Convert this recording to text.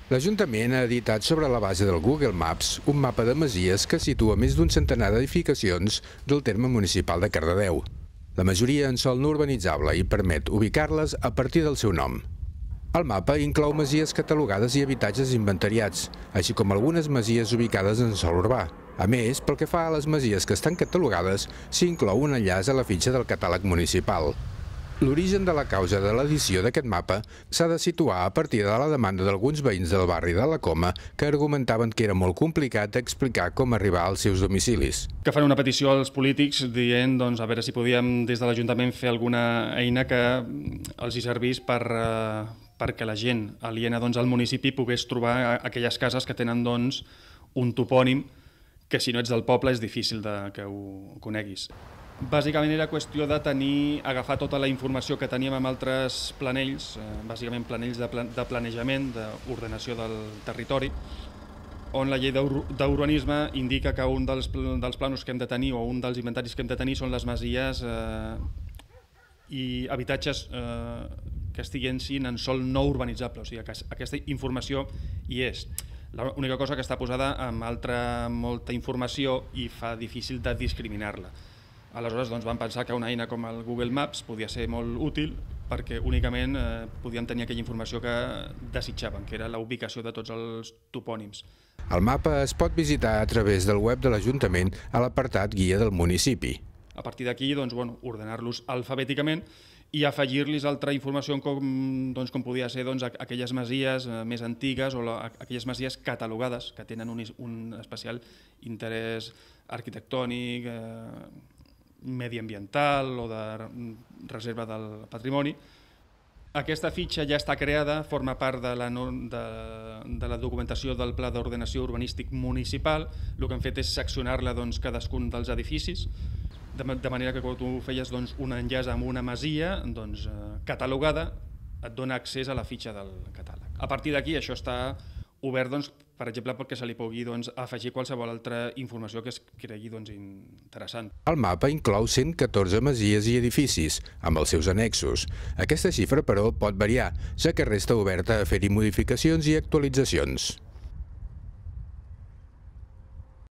L'Ajuntament ha editat sobre la base del Google Maps un mapa de masies que situa més d'un centenar d'edificacions del terme municipal de Cardedeu. La majoria en sòl no urbanitzable i permet ubicar-les a partir del seu nom. El mapa inclou masies catalogades i habitatges inventariats, així com algunes masies ubicades en sòl urbà. A més, pel que fa a les masies que estan catalogades, s'inclou un enllaç a la fitxa del catàleg municipal. L'origen de la causa de l'edició d'aquest mapa s'ha de situar a partir de la demanda d'alguns veïns del barri de la Coma que argumentaven que era molt complicat explicar com arribar als seus domicilis. Que fan una petició als polítics dient a veure si podíem des de l'Ajuntament fer alguna eina que els hi servís perquè la gent aliena al municipi pogués trobar aquelles cases que tenen un topònim que si no ets del poble és difícil que ho coneguis. Bàsicament era qüestió de agafar tota la informació que teníem amb altres planells, bàsicament planells de planejament, d'ordenació del territori, on la llei d'urbanisme indica que un dels plànols que hem de tenir o un dels inventaris que hem de tenir són les masies i habitatges que estiguin en sòl no urbanitzable, o sigui que aquesta informació hi és. L'única cosa que està posada amb molta informació i fa difícil de discriminar-la. Aleshores vam pensar que una eina com el Google Maps podia ser molt útil perquè únicament podíem tenir aquella informació que desitjàvem, que era la ubicació de tots els topònims. El mapa es pot visitar a través del web de l'Ajuntament a l'apartat Guia del municipi. A partir d'aquí, ordenar-los alfabèticament i afegir-los altra informació com podia ser aquelles masies més antigues o aquelles masies catalogades que tenen un especial interès arquitectònic, mediambiental o de reserva del patrimoni. Aquesta fitxa ja està creada, forma part de la documentació del Pla d'Ordenació Urbanístic Municipal. El que hem fet és seccionar-la cadascun dels edificis, de manera que quan tu feies un enllaç amb una masia catalogada, et dona accés a la fitxa del catàleg. A partir d'aquí això està obert, per exemple, perquè se li pugui afegir qualsevol altra informació que es cregui interessant. El mapa inclou 114 masies i edificis, amb els seus annexos. Aquesta xifra, però, pot variar, ja que resta oberta a fer-hi modificacions i actualitzacions.